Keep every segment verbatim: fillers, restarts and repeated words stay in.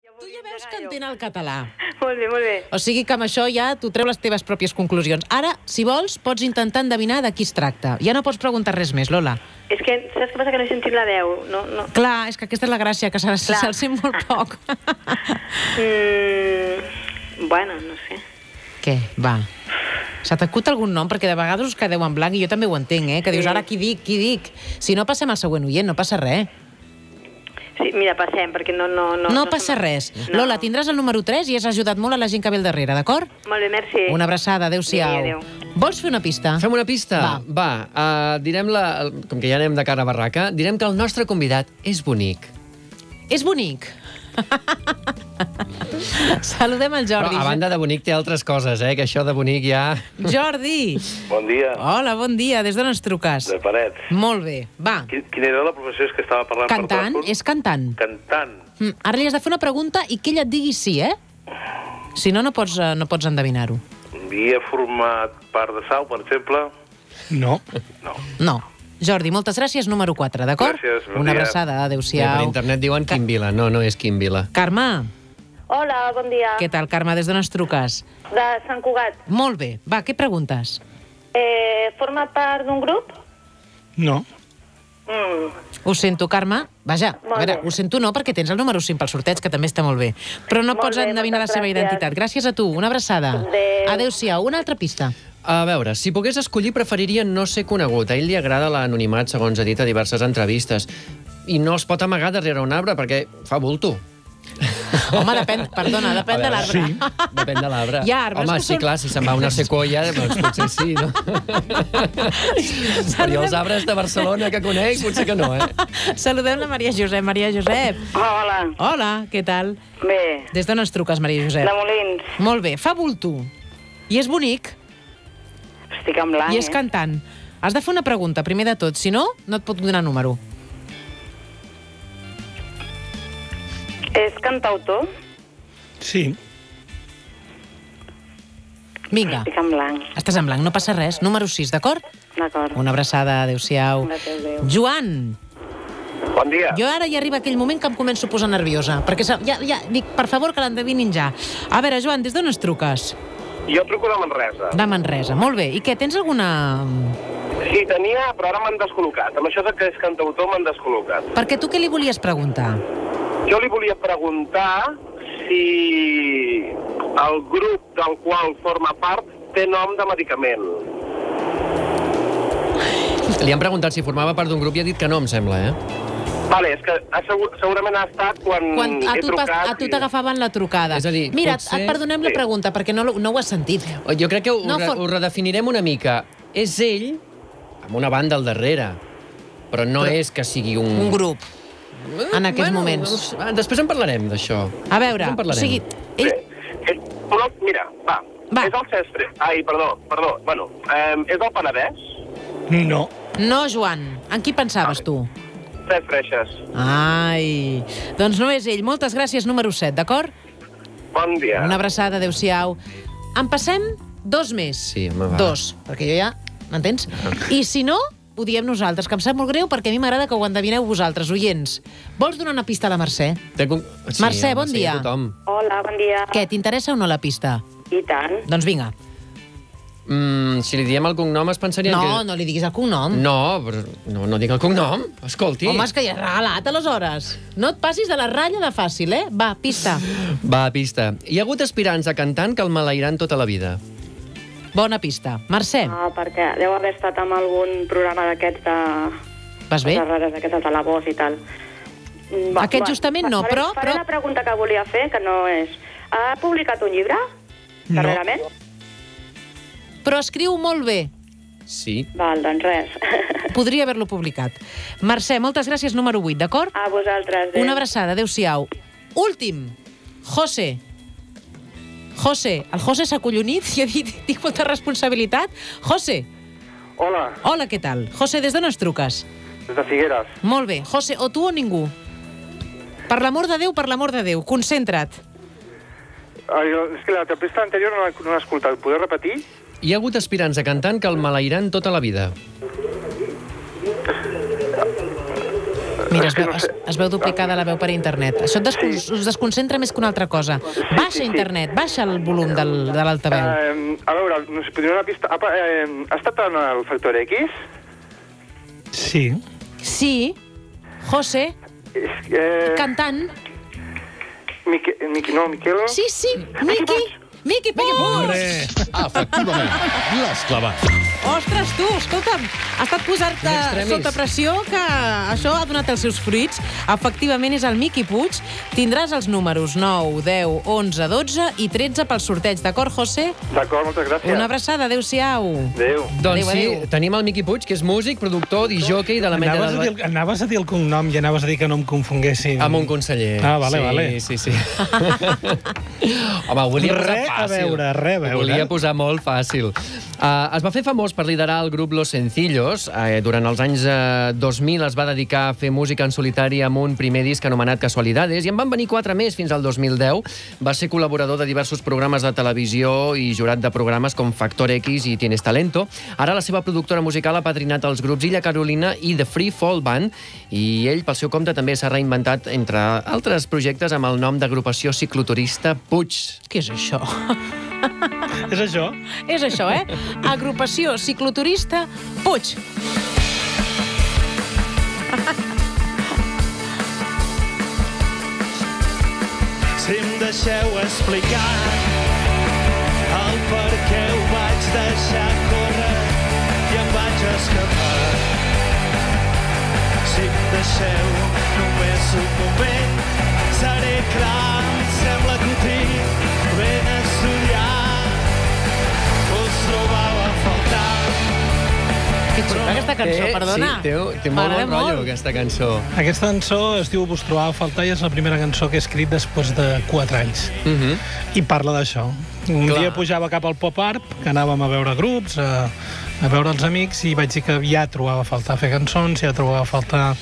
Tu ja veus que entén el català. Molt bé, molt bé. O sigui que amb això ja tu treu les teves pròpies conclusions. Ara, si vols, pots intentar endevinar de qui es tracta. Ja no pots preguntar res més, Lola. És que, saps què passa? Que no he sentit la veu. No, no. Clar, és que aquesta és la gràcia, que se'l se sent molt poc. mm, bueno, no sé. Què? Va. Se t'acut algun nom? Perquè de vegades us quedeu en blanc i jo també ho entenc, eh? Que dius, ara qui dic, qui dic? Si no, passem al següent oient, no passa res. Sí, mira, passem, perquè no... No, no, no, no passa som... res. No. Lola, tindràs el número tres i has ajudat molt a la gent que ve al darrere, d'acord? Molt bé, merci. Una abraçada, adéu-siau. Adéu. Vols fer una pista? Fem una pista? Va. Va, uh, direm la... Com que ja anem de cara a barraca, direm que el nostre convidat és bonic. És bonic. Saludem el Jordi. Però, a banda de bonic, té altres coses, eh? Que això de bonic ja... Jordi! Bon dia. Hola, bon dia. Des d'on ens truques? De Paret. Molt bé. Va. Quin, quina era la professió que estava parlant Cantant? per telèfon? És cantant. Cantant. Mm, ara li has de fer una pregunta i que ella et digui sí, eh? Si no, no pots, uh, no pots endevinar-ho. Havia format part de Sau, per exemple? No. No. No. Jordi, moltes gràcies, número quatre, d'acord? Gràcies, bon Una dia. abraçada, Bé, adéu-siau. per internet diuen Quim Vila. No, no és Quim Vila. Carme, Hola, bon dia. què tal, Carme? Des d'on ens truques? De Sant Cugat. Molt bé. Va, què preguntes? Eh, forma part d'un grup? No. Mm. Ho sento, Carme. Vaja, Molt a veure, bé. ho sento no, perquè tens el número cinc pel sorteig, que també està molt bé. Però no Molt pots bé, endevinar la moltes seva gràcies. identitat. Gràcies a tu. Una abraçada. Adéu. Adéu-siau. Una altra pista. A veure, si pogués escollir, preferiria no ser conegut. A ell li agrada l'anonimat, segons ha dit a diverses entrevistes. I no es pot amagar darrere un arbre, perquè fa bulto. Home, depèn, perdona, depèn de l'arbre. sí. Depèn de l'arbre. Hi ha arbres Home, que sí, són- clar, si se'n va una sequoia, doncs potser sí, no? Però jo els arbres de Barcelona que conec, potser que no, eh? Saludem la Maria Josep. Maria Josep. Hola. Hola, què tal? Bé. Des d'on ens truques, Maria Josep? De Molins. Molt bé, fa bulto. I és bonic, Estic en blanc, i és eh? cantant. Has de fer una pregunta, primer de tot. Si no, no et pot donar número. És cantautor? Sí. Vinga, Estic en blanc. estàs en blanc, no passa res. Número sis, d'acord? D'acord. Una abraçada, adéu-siau. Gràcies, adéu. Joan, Bon dia. jo ara ja arriba aquell moment que em començo a posar nerviosa, perquè sa- ja, ja, dic, per favor, que l'endevinin ja. A veure, Joan, des d'on ens truques? Jo truco de Manresa. De Manresa, molt bé. I què, tens alguna... Sí, tenia, però ara m'han descol·locat. Amb això de que és cantautor m'han descol·locat. Perquè tu què li volies preguntar? Jo li volia preguntar si el grup del qual forma part té nom de medicament. Li han preguntat si formava part d'un grup i ha dit que no, em sembla, eh? Vale, és que ha segur, segurament ha estat quan, Quan a he tu, pas- trucat... a tu i- t'agafaven la trucada. És a dir, Mira, potser- et perdonem la Sí. pregunta, perquè no, lo- no ho has sentit. Jo crec que ho, No, re, for- ho redefinirem una mica. És ell, amb una banda al darrere, però no Però- és que sigui un... Un grup, en aquests bueno, moments. Després en parlarem, d'això. A veure, Després en o parlarem. sigui, ell... Bé, és, però, mira, va, Va. és el Cesc Fre... Ai, perdó, perdó, bueno, eh, és del Penedès? No. No, Joan, en qui pensaves tu? Cesc Freixes. Ai, doncs no és ell. Moltes gràcies, número set, d'acord? Bon dia. Una abraçada, adéu-siau. En passem dos més. Sí, home, va. Dos, perquè jo ja... M'entens? I si no, ho diem nosaltres, que em sap molt greu perquè a mi m'agrada que ho endevineu vosaltres, oients. Vols donar una pista a la Mercè? Té con- Sí, Mercè, home, bon sí, dia. a tothom. Hola, bon dia. Què, t'interessa o no la pista? I tant. Doncs vinga. Mm, si li diem el cognom es pensarien No, que... no li diguis el cognom. No, però no, no dic el cognom. Escolti. Home, és que ja has regalat, aleshores. No et passis de la ratlla de fàcil, eh? Va, pista. Va, pista. Hi ha hagut aspirants a cantant que el malairan tota la vida. Bona pista. Mercè, Ah, perquè deu haver estat amb algun programa d'aquests de... vas bé? de rares d'aquests de Talabós i tal. Mm, Aquest justament no, faré, però- Faré però- la pregunta que volia fer, que no és... Ha publicat un llibre? No. Darrerament? Però escriu molt bé. Sí. Val, doncs res. Podria haver-lo publicat. Mercè, moltes gràcies, número vuit, d'acord? A vosaltres. adéu. Una abraçada, adéu-siau. Últim, José. José, el José s'ha acollonit i ha dit, tinc molta responsabilitat. José, Hola, hola, què tal? José, des d'on ens truques? des de Figueres. Molt bé. José, o tu o ningú? Per l'amor de Déu, per l'amor de Déu, concentra't. Ai, és que la pista anterior no l'he no l'he escoltat. Podeu repetir? Hi ha hagut aspirants a cantant que el malairan tota la vida. Mira, es És que veu, no es, sé. es veu duplicada la veu per internet. Això et descon Sí. us desconcentra més que una altra cosa. Baixa sí, sí. internet, baixa el volum del, de l'altaveu. Eh, a veure, no sé, podria una pista... Apa, eh, ha estat en el Factor X? Sí. Sí, José, És, eh, cantant. Mique, Mique, no, Miquel... Sí, sí, Miqui. Miqui Puig! Hombre, Efectivament, l'has clavat. Ostres, tu, escolta'm, ha estat posar-te In extremis. sota pressió que això ha donat els seus fruits. Efectivament, és el Miqui Puig. Tindràs els números nou, deu, onze, dotze i tretze pel sorteig, d'acord, José? D'acord, moltes gràcies. Una abraçada, adéu-siau. Adéu. Doncs Adéu, sí, adéu. tenim el Miqui Puig, que és músic, productor, disjòquei de la Mella anaves a, del... dir, el- anaves a dir el cognom i anaves a dir que no em confonguéssim. Amb un conseller. Ah, vale, sí, vale. Sí, sí, Home, ho volia posar Re a fàcil. veure, re a veure. Ho volia posar molt fàcil. Uh, es va fer famós per liderar el grup Los Sencillos. Uh, durant els anys uh, dos mil es va dedicar a fer música en solitari amb un primer disc anomenat Casualidades, i en van venir quatre més fins al dos mil deu. Va ser col·laborador de diversos programes de televisió i jurat de programes com Factor X i Tienes Talento. Ara la seva productora musical ha padrinat els grups Illa Carolina i The Free Fall Band, i ell, pel seu compte, també s'ha reinventat, entre altres projectes, amb el nom d'agrupació cicloturista Puig. Què és això? És això? És això, eh? Agrupació cicloturista Puig. Si em deixeu explicar el per què ho vaig deixar córrer i em vaig escapar. Si em deixeu només un moment, seré clar, em sembla que ho tinc ben estudiat. Us trobava a faltar. Que xula aquesta cançó, perdona. Sí, té, té molt M'agrada bon rotllo, molt. aquesta cançó. Aquesta cançó es diu Vos trobava a faltar i és la primera cançó que he escrit després de quatre anys. Uh -huh. I parla d'això. Un Clar. dia pujava cap al pop art, que anàvem a veure grups, a, a veure els amics, i vaig dir que ja trobava a faltar fer cançons, ja trobava a faltar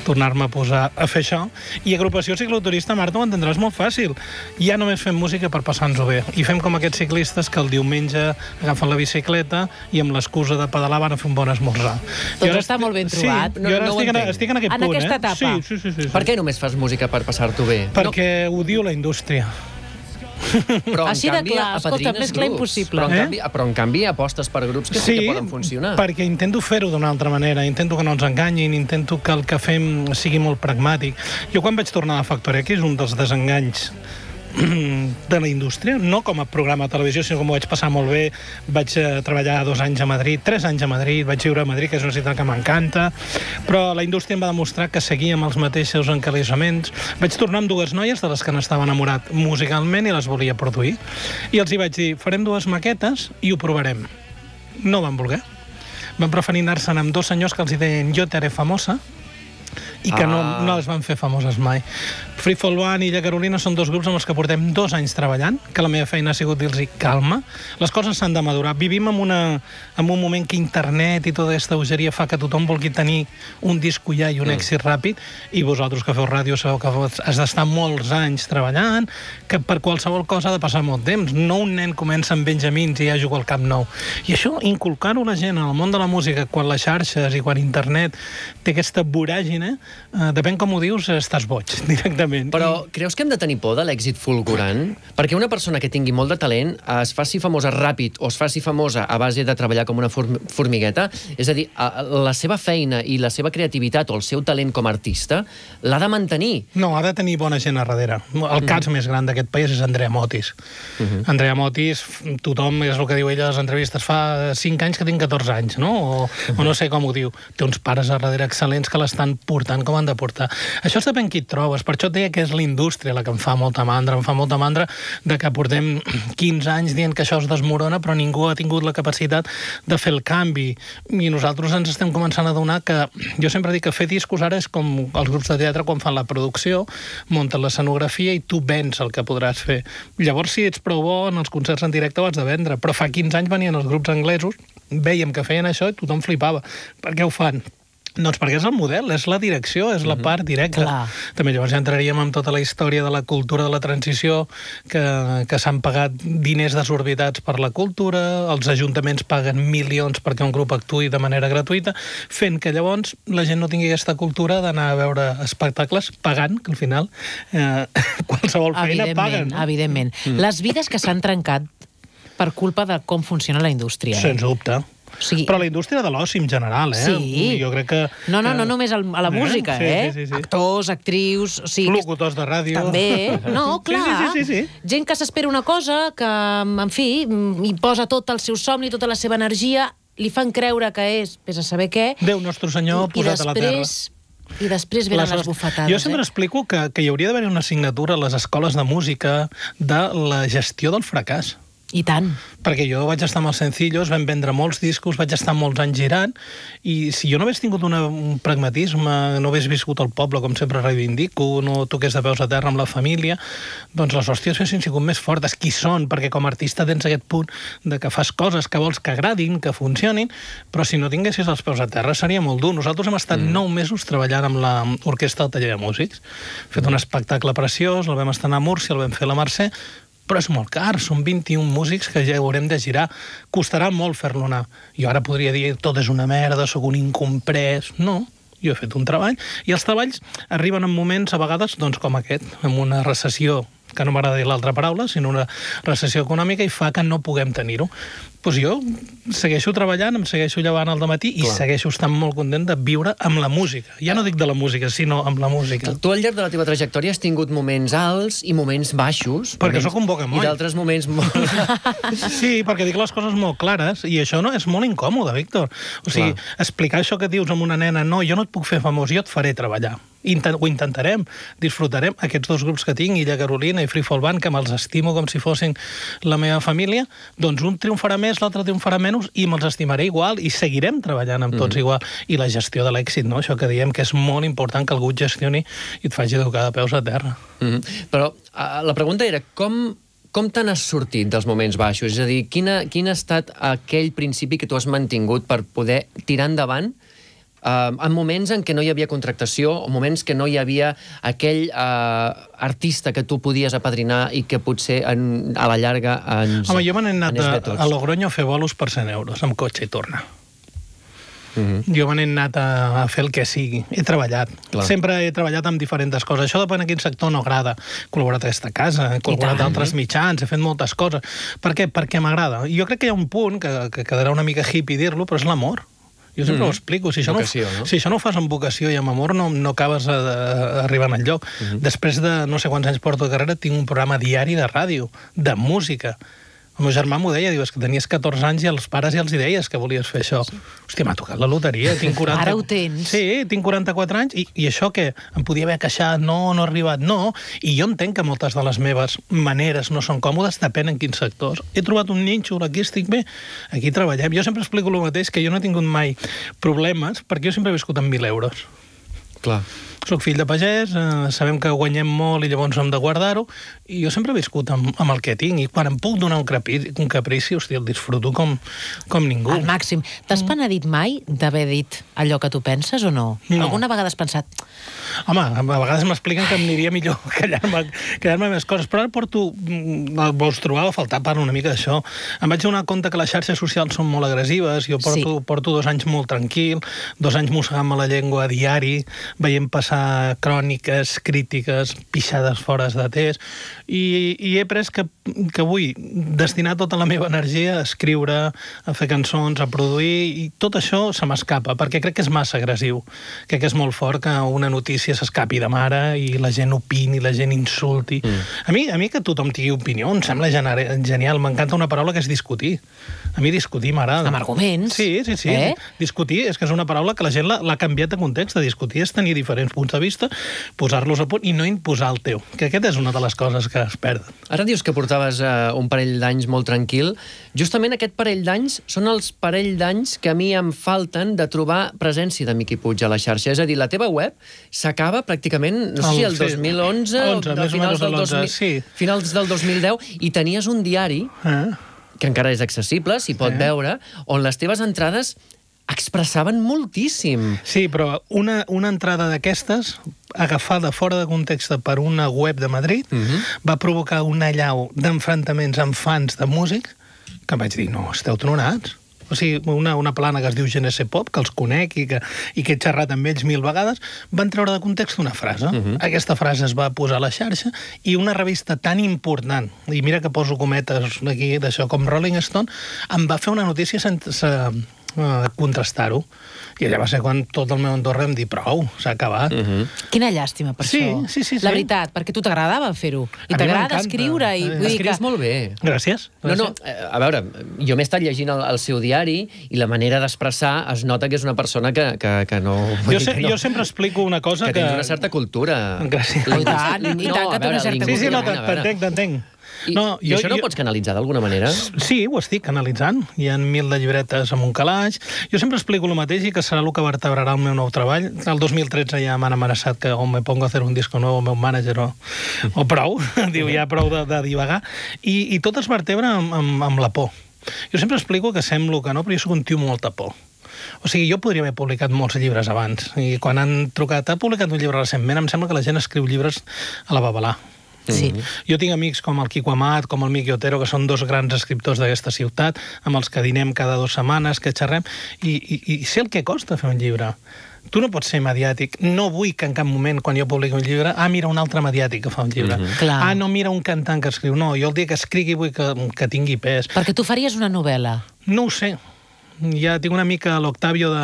tornar-me a posar a fer això. I agrupació cicloturista, Marta, ho entendràs molt fàcil. Ja només fem música per passar-nos-ho bé. I fem com aquests ciclistes que el diumenge agafen la bicicleta i amb l'excusa de pedalar van a fer un bon esmorzar. Doncs Jo ara està estic- molt ben sí, trobat. jo No- ara no ho estic, en, entenc. estic en aquest En punt, aquesta eh? etapa. Sí, sí, sí, sí, sí. Per què només fas música per passar-t'ho bé? Perquè ho diu la indústria. Però, en Així de canvi, clar, escolta, apadrines més clar grups. impossible. Però, en Eh? canvi, però, en canvi, apostes per grups que sí, que poden funcionar. perquè intento fer-ho d'una altra manera, intento que no ens enganyin, intento que el que fem sigui molt pragmàtic. Jo quan vaig tornar a Factor X, un dels desenganys de la indústria, no com a programa de televisió, sinó com ho vaig passar molt bé. Vaig eh, treballar dos anys a Madrid, tres anys a Madrid, vaig viure a Madrid, que és una ciutat que m'encanta, però la indústria em va demostrar que seguia amb els mateixos encalisaments. Vaig tornar amb dues noies de les que n'estava enamorat musicalment i les volia produir. I els hi vaig dir, farem dues maquetes i ho provarem. No van voler. Van preferir anar-se'n amb dos senyors que els hi deien jo te haré famosa, i que Ah. no, no les van fer famoses mai. Free Fall Band i Illa Carolina són dos grups amb els que portem dos anys treballant, que la meva feina ha sigut dir-los calma, les coses s'han de madurar. Vivim en, una, en un moment que internet i tota aquesta bogeria fa que tothom vulgui tenir un disco ja i un mm. èxit ràpid, i vosaltres que feu ràdio sabeu que has d'estar molts anys treballant, que per qualsevol cosa ha de passar molt temps. No un nen comença amb Benjamins i ja juga al Camp Nou. I això, inculcar-ho a la gent en el món de la música, quan les xarxes i quan internet té aquesta voràgine, eh, depèn com ho dius, estàs boig, directament. Però creus que hem de tenir por de l'èxit fulgurant? Perquè una persona que tingui molt de talent es faci famosa ràpid o es faci famosa a base de treballar com una form formigueta, és a dir, la seva feina i la seva creativitat o el seu talent com a artista l'ha de mantenir. No, ha de tenir bona gent a darrere. El cas mm. més gran d'aquest país és Andrea Motis. Mm -hmm. Andrea Motis, tothom, és el que diu ella a les entrevistes, fa cinc anys que tinc catorze anys, no? O, mm -hmm. o no sé com ho diu. Té uns pares a darrere excel·lents que l'estan portant com han de portar. Això és depèn qui et trobes. Per això et deia que és la indústria la que em fa molta mandra. Em fa molta mandra de que portem quinze anys dient que això es desmorona, però ningú ha tingut la capacitat de fer el canvi. I nosaltres ens estem començant a adonar que... Jo sempre dic que fer discos ara és com els grups de teatre quan fan la producció, munten l'escenografia i tu vens el que podràs fer. Llavors, si ets prou bo, en els concerts en directe ho has de vendre. Però fa quinze anys venien els grups anglesos, veiem que feien això i tothom flipava. Per què ho fan? Doncs perquè és el model, és la direcció, és la part directa. Clar. També llavors ja entraríem en tota la història de la cultura de la transició, que, que s'han pagat diners desorbitats per la cultura, els ajuntaments paguen milions perquè un grup actuï de manera gratuïta, fent que llavors la gent no tingui aquesta cultura d'anar a veure espectacles pagant, que al final eh, qualsevol feina paguen. No? Evidentment. Mm. Les vides que s'han trencat per culpa de com funciona la indústria. Sens dubte. O sigui... Però la indústria de l'oci en general, eh? Sí. Jo crec que... No, no, que... no només a la música, sí, eh? Sí, sí, sí. Actors, actrius... O sigui, locutors de ràdio. També. No, clar. Sí, sí, sí, sí, sí. Gent que s'espera una cosa, que, en fi, hi posa tot el seu somni, tota la seva energia, li fan creure que és, vés a saber què... Déu nostre senyor posat a la terra. I després venen les bufetades. Jo sempre eh? explico que, que hi hauria d'haver una assignatura a les escoles de música de la gestió del fracàs. I tant. Perquè jo vaig estar amb els Sencillos, vam vendre molts discos, vaig estar molts anys girant, i si jo no hagués tingut una, un pragmatisme, no hagués viscut al poble, com sempre reivindico, no toqués de peus a terra amb la família, doncs les hòsties haguessin sigut més fortes. Qui són? Perquè com a artista tens aquest punt de que fas coses que vols que agradin, que funcionin, però si no tinguessis els peus a terra seria molt dur. Nosaltres hem estat mm. nou mesos treballant amb l'orquestra del Taller de Músics. Hem fet un espectacle preciós, el vam estrenar a Múrcia, el vam fer a la Mercè, però és molt car, són vint-i-un músics que ja haurem de girar. Costarà molt fer-lo anar. Jo ara podria dir, tot és una merda, sóc un incomprès. No, jo he fet un treball, i els treballs arriben en moments, a vegades, doncs com aquest, amb una recessió, que no m'agrada dir l'altra paraula, sinó una recessió econòmica, i fa que no puguem tenir-ho. Doncs jo segueixo treballant, em segueixo llevant al dematí i segueixo estant molt content de viure amb la música. Ja no dic de la música, sinó amb la música. Tu al llarg de la teva trajectòria has tingut moments alts i moments baixos. Perquè moments... sóc un bocamoll. I d'altres moments molt... Sí, perquè dic les coses molt clares, i això no és molt incòmode, Víctor. O sigui, Clar. explicar això que dius amb una nena, no, jo no et puc fer famós, jo et faré treballar. Intent, ho intentarem, disfrutarem aquests dos grups que tinc, Illa Carolina i Free Fall Band, que me'ls estimo com si fossin la meva família, doncs un triomfarà més, l'altre triomfarà menys, i me'ls estimaré igual, i seguirem treballant amb tots mm. igual. I la gestió de l'èxit, no? Això que diem que és molt important que algú et gestioni i et faci educar de peus a terra. Mm -hmm. Però uh, la pregunta era, com... Com te n'has sortit dels moments baixos? És a dir, quina, quin ha estat aquell principi que tu has mantingut per poder tirar endavant Uh, en moments en què no hi havia contractació, o moments que no hi havia aquell uh, artista que tu podies apadrinar i que potser en, a la llarga ens... Home, jo me n'he anat a, a Logroño a fer bolos per cent euros, amb cotxe i tornar. Mm-hmm. Jo me n'he anat a, a fer el que sigui. He treballat. Clar. Sempre he treballat amb diferents coses. Això depèn de quin sector no agrada. He col·laborat a aquesta casa, he col·laborat a altres mitjans, he fet moltes coses. Per què? Perquè m'agrada. Jo crec que hi ha un punt, que, que quedarà una mica hippie dir-lo, però és l'amor. Jo sempre mm. ho explico. Si això, vocació, no, no? si això no ho fas amb vocació i amb amor, no, no acabes a, a, arribant al lloc. Mm-hmm. Després de no sé quants anys porto de carrera, tinc un programa diari de ràdio, de música. El meu germà m'ho deia, diu, és que tenies catorze anys i als pares ja els hi deies que volies fer això. Sí. Hòstia, m'ha tocat la loteria. Tinc quaranta... Ara ho tens. Sí, tinc quaranta-quatre anys, i, i això què? Em podia haver queixat, no, no ha arribat, no. I jo entenc que moltes de les meves maneres no són còmodes, depèn en quins sectors. He trobat un nínxol, aquí estic bé, aquí treballem. Jo sempre explico el mateix, que jo no he tingut mai problemes, perquè jo sempre he viscut amb mil euros. Clar. Soc fill de pagès, eh, sabem que guanyem molt i llavors hem de guardar-ho, i jo sempre he viscut amb, amb el que tinc, i quan em puc donar un caprici, un caprici hòstia, el disfruto com, com ningú. Al màxim. T'has penedit mai d'haver dit allò que tu penses o no? No. Alguna vegada has pensat... Home, a vegades m'expliquen que em aniria millor callar-me callar més coses, però ara porto... Vols trobar a faltar part una mica d'això. Em vaig donar compte que les xarxes socials són molt agressives, jo porto, sí. porto dos anys molt tranquil, dos anys mossegant-me la llengua a diari, veient passar cròniques, crítiques, pixades fora de test, i, i he pres que, que vull destinar tota la meva energia a escriure, a fer cançons, a produir, i tot això se m'escapa, perquè crec que és massa agressiu. Crec que és molt fort que una notícia s'escapi de mare i la gent opini, la gent insulti. Mm. A mi, a mi que tothom tingui opinió em sembla genial. M'encanta una paraula que és discutir. A mi discutir m'agrada. Amb arguments. Sí, sí, sí. Eh? Discutir és que és una paraula que la gent l'ha canviat de context. De discutir és tenir diferents punts de vista, posar-los a punt i no imposar el teu. Que aquesta és una de les coses que es perden. Ara dius que portaves uh, un parell d'anys molt tranquil. Justament aquest parell d'anys són els parell d'anys que a mi em falten de trobar presència de Miqui Puig a la xarxa. És a dir, la teva web s'acaba pràcticament, no sé si el dos mil onze, onze, o finals del, dos mil, sí. finals del dos mil deu, i tenies un diari... Eh? que encara és accessible, s'hi pot sí. veure, on les teves entrades expressaven moltíssim. Sí, però una, una entrada d'aquestes, agafada fora de context per una web de Madrid, uh-huh. va provocar una allau d'enfrontaments amb fans de músics que em vaig dir, no, esteu tronats. O sigui, una, una plana que es diu Genese Pop, que els conec i que, i que he xerrat amb ells mil vegades, van treure de context una frase. Uh-huh. Aquesta frase es va posar a la xarxa i una revista tan important, i mira que poso cometes aquí d'això, com Rolling Stone, em va fer una notícia sense uh, contrastar-ho. I allà va ser quan tot el meu entorn em dir prou, s'ha acabat. Uh-huh. Quina llàstima per sí, això. Sí, sí, sí. La veritat, perquè tu t'agradava fer-ho. I t'agrada escriure. I, vull dir Escrius que... molt bé. Gràcies. No, no, a veure, jo m'he estat llegint el, el seu diari i la manera d'expressar es nota que és una persona que, que, que no... Jo, se, que no jo sempre explico una cosa que... Que tens una certa cultura. Gràcies. I tant, i tant que té una certa Sí, sí, no, cultura. t'entenc, t'entenc. I, no, I jo, això no ho jo... pots canalitzar d'alguna manera? Sí, ho estic canalitzant. Hi ha mil de llibretes amb un calaix. Jo sempre explico el mateix i que serà el que vertebrarà el meu nou treball. El dos mil tretze ja m'han amenaçat que o me pongo a hacer un disco nou el meu mànager o, o prou. Diu, ja prou de, de divagar. I, i tot es vertebra amb, amb, amb la por. Jo sempre explico que semblo que no, però jo soc un tio amb molta por. O sigui, jo podria haver publicat molts llibres abans. I quan han trucat, ha publicat un llibre recentment, em sembla que la gent escriu llibres a la babalà. Sí. Jo tinc amics com el Quico Amat, com el Miqui Otero, que són dos grans escriptors d'aquesta ciutat, amb els que dinem cada dues setmanes, que xerrem, i, i, i sé el que costa fer un llibre. Tu no pots ser mediàtic. No vull que en cap moment, quan jo publico un llibre, ah, mira un altre mediàtic que fa un llibre. Mm-hmm. Ah, no, mira un cantant que escriu. No, jo el dia que escrigui vull que, que tingui pes. Perquè tu faries una novel·la. No ho sé. Ja tinc una mica l'Octavio de,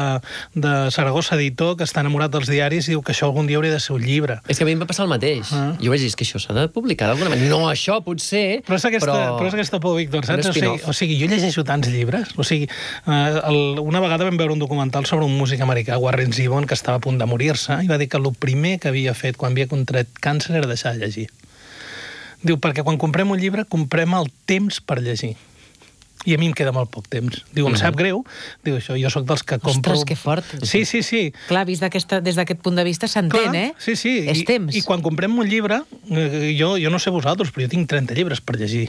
de Saragossa, editor, que està enamorat dels diaris i diu que això algun dia hauria de ser un llibre. És que a mi em va passar el mateix. Ah. Jo vaig dir que això s'ha de publicar d'alguna manera. No, això potser, però... És aquesta, però... però és aquesta por, Víctor, saps? O sigui, o sigui, jo llegeixo tants llibres. O sigui, eh, el, una vegada vam veure un documental sobre un músic americà, Warren Zevon, que estava a punt de morir-se, i va dir que el primer que havia fet quan havia contret càncer era deixar de llegir. Diu, perquè quan comprem un llibre, comprem el temps per llegir. I a mi em queda molt poc temps. Diu, em sap greu. Diu, això, jo sóc dels que compro... Ostres, que fort. Sí, sí, sí. Clar, vist des d'aquest punt de vista s'entén, eh? Sí, sí. És I, temps. I quan comprem un llibre, eh, jo, jo no sé vosaltres, però jo tinc trenta llibres per llegir.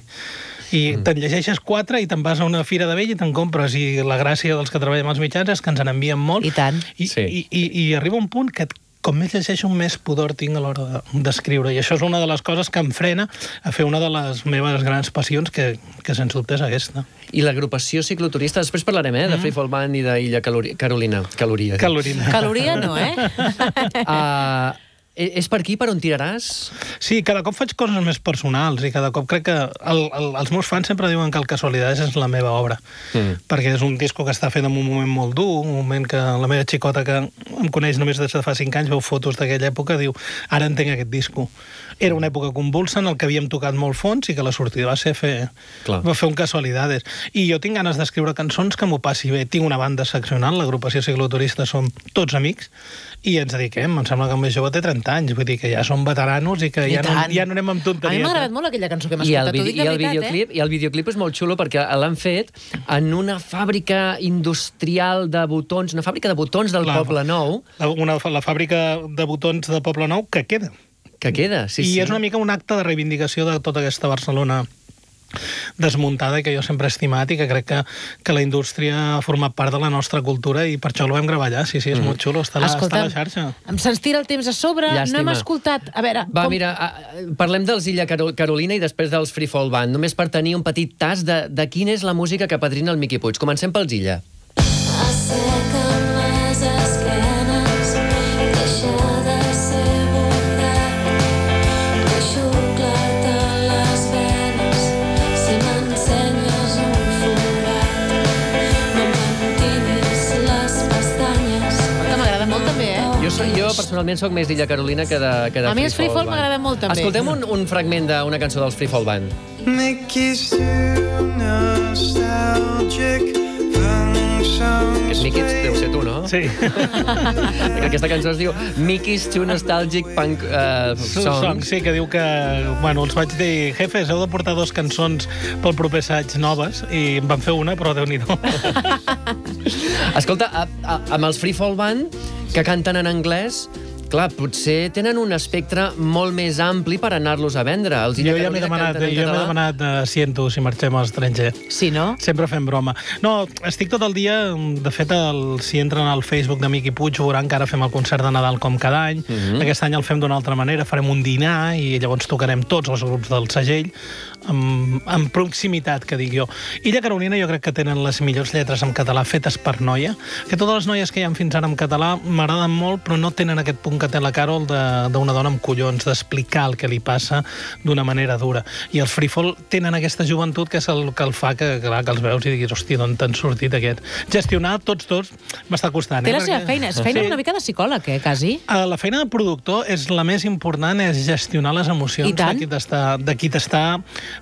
I mm. te'n llegeixes quatre i te'n vas a una fira de vell i te'n compres. I la gràcia dels que treballem als mitjans és que ens n'envien molt. I tant. I, sí. i, i, i arriba un punt que com més llegeixo, més pudor tinc a l'hora d'escriure. I això és una de les coses que em frena a fer una de les meves grans passions, que, que sens dubte és aquesta. I l'agrupació cicloturista, després parlarem, eh, de Free Fall Band i d'Illa Carolina. Caloria. Caloria. Caloria no, eh? uh, és per aquí per on tiraràs? Sí, cada cop faig coses més personals i cada cop crec que el, el, els meus fans sempre diuen que el Casualidades és la meva obra, mm. perquè és un disco que està fet en un moment molt dur, un moment que la meva xicota, que em coneix només des de fa cinc anys, veu fotos d'aquella època, diu, ara entenc aquest disco. Era una època convulsa en el que havíem tocat molt fons i que la sortida va ser fer, va fer un Casualidades. I jo tinc ganes d'escriure cançons que m'ho passi bé. Tinc una banda seccional, l'agrupació cicloturista som tots amics, i ens dediquem, em sembla que el més jove té trenta anys, vull dir que ja som veteranos i que I ja, no, ja no anem amb tonteries. A mi m'ha agradat molt aquella cançó que hem I escoltat, el, t'ho dic i de el veritat, videoclip, eh? I el videoclip és molt xulo perquè l'han fet en una fàbrica industrial de botons, una fàbrica de botons del la, Poble Nou. La, una, la fàbrica de botons de Poble Nou que queda. Que queda, sí, I sí. és una mica un acte de reivindicació de tota aquesta Barcelona desmuntada i que jo sempre he estimat i que crec que, que la indústria ha format part de la nostra cultura i per això el vam gravar allà. Sí, sí, és mm. molt xulo, està, la, està a la xarxa. Se'ns tira el temps a sobre, Llàstima. No hem escoltat... A veure, Va, com... mira, parlem dels Illa Carolina i després dels Free Fall Band, només per tenir un petit tas de, de quina és la música que padrina el Miqui Puig. Comencem pels Illa. Assequen les esquenes, deixa de ser bondat, deixo clar-te les venes, si m'ensenyes un forat, no m'entinis les pestanyes. Que m'agrada molt també, eh? Jo, soc, jo personalment sóc més d'Illa Carolina que de, que de A mi els Free Fall Band. m'agrada molt també. Escoltem un, un fragment d'una cançó dels Free Fall Band. Mickey's too nostalgic. Aquest Mickey deu ser tu, no? Sí. Aquesta cançó es diu Mickey's Too Nostalgic Punk uh, Songs. Song, sí, que diu que... Bueno, els vaig dir, jefes, heu de portar dos cançons pel proper assaig noves, i em van fer una, però Déu-n'hi-do. Escolta, a, a, amb els Free Fall Band, que canten en anglès, clar, potser tenen un espectre molt més ampli per anar-los a vendre. Els Jo ja m'he demanat, jo m'he demanat uh, ciento si marxem a l'estranger. Sí, no? Sempre fem broma. No, estic tot el dia... De fet, el, si entren al Facebook de Miqui Puig veuran que ara fem el concert de Nadal com cada any. Mm-hmm. Aquest any el fem d'una altra manera. Farem un dinar i llavors tocarem tots els grups del segell amb, amb proximitat, que dic jo. Illa Carolina jo crec que tenen les millors lletres en català fetes per noia, que totes les noies que hi ha fins ara en català m'agraden molt, però no tenen aquest punt que té la Carol d'una dona amb collons, d'explicar el que li passa d'una manera dura. I els Free Fall tenen aquesta joventut que és el que el fa que, clar, que els veus i diguis, hòstia, d'on t'han sortit aquest? Gestionar tots dos m'està costant. Té eh? la seva Perquè... feina. És feina Sí. una mica de psicòleg, eh, quasi. La feina de productor és la més important, és gestionar les emocions I tant. de qui t'està de qui t'està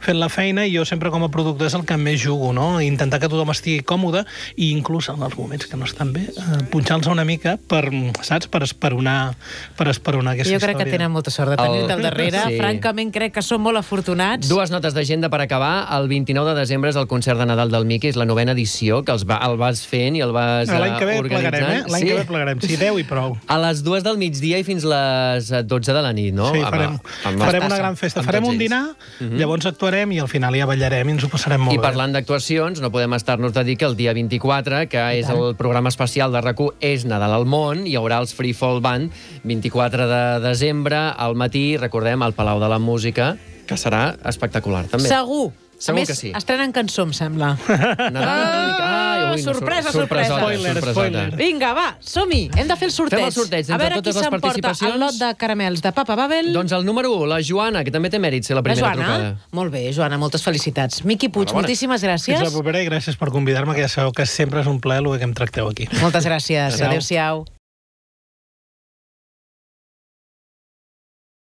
fent la feina, i jo sempre com a productor és el que més jugo, no? Intentar que tothom estigui còmode i inclús en els moments que no estan bé, eh, punxar-los una mica per, saps, per esperonar, per esperonar aquesta Jo crec història. que tenen molta sort de tenir-te al darrere. Sí. Francament, crec que són molt afortunats. Dues notes d'agenda per acabar. El vint-i-nou de desembre és el concert de Nadal del Miqui, és la novena edició, que els va, el vas fent i el vas uh, L'any que ve organitzant. plegarem, eh? L'any sí. que ve plegarem. Sí, deu i prou. A les dues del migdia i fins les dotze de la nit, no? Sí, Amb- farem, amb- farem una gran festa. amb Farem tots un ells. dinar, Mhm. llavors actuarem i al final ja ballarem i ens ho passarem molt I bé. parlant d'actuacions, no podem estar-nos de dir que el dia vint-i-quatre, que és el programa especial de RAC u, és Nadal al món, hi haurà els Free Fall Band, vint-i-quatre de desembre, al matí, recordem, al Palau de la Música, que serà espectacular, també. Segur. Segur a més, que sí. estrenen cançó, em sembla. Nadal, Ah, ai, ui, no, sorpresa, sor- sorpresa. Spoiler, sorpresota. spoiler. Vinga, va, som-hi. Hem de fer el sorteig. Fem el sorteig A entre veure totes qui les s'emporta participacions. el lot de caramels de Papa Babel. Doncs el número u, la Joana, que també té mèrit ser la La primera Joana? trucada. Molt bé, Joana, moltes felicitats. Miqui Puig, Enhorabona. moltíssimes Fins la gràcies. propera i gràcies per convidar-me, que ja sabeu que sempre és un plaer el que em tracteu aquí. Moltes gràcies. Adéu. Adéu-siau.